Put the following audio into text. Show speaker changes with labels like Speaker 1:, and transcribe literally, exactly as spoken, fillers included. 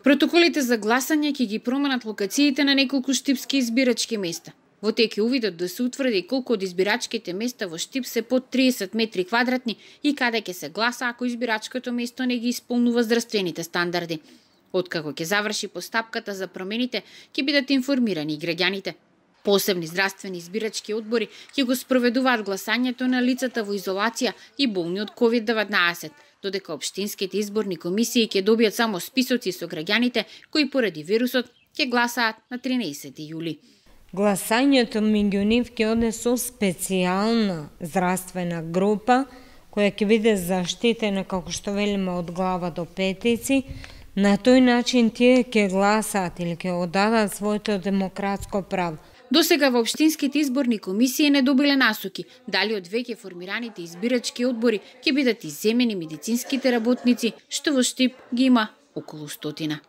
Speaker 1: Протоколите за гласање ќе ги променат локациите на неколку штипски избирачки места. Во тек е увидот да се утврди колку од избирачките места во Штип се под триесет метри квадратни и каде ќе се гласа ако избирачкото место не ги исполнува здравствените стандарди. Откако ќе заврши постапката за промените, ќе бидат информирани и граѓаните. Посебни здравствени избирачки одбори ќе го спроведуваат гласањето на лицата во изолација и болни од ковид деветнаесет, додека општинските изборни комисии ќе добијат само списоци со граѓаните кои поради вирусот ќе гласаат на тринаесети јули.
Speaker 2: Гласањето меѓу нив ќе оде со специјална здравствена група која ќе биде заштитена, како што велиме, од глава до петици. На тој начин тие ќе гласаат или ќе одадат своето демократско право.
Speaker 1: Досега во општинските изборни комисии не добиле насоки дали од веќе формираните избирачки одбори ќе бидат изземени медицинските работници, што во Штип ги има околу стотина.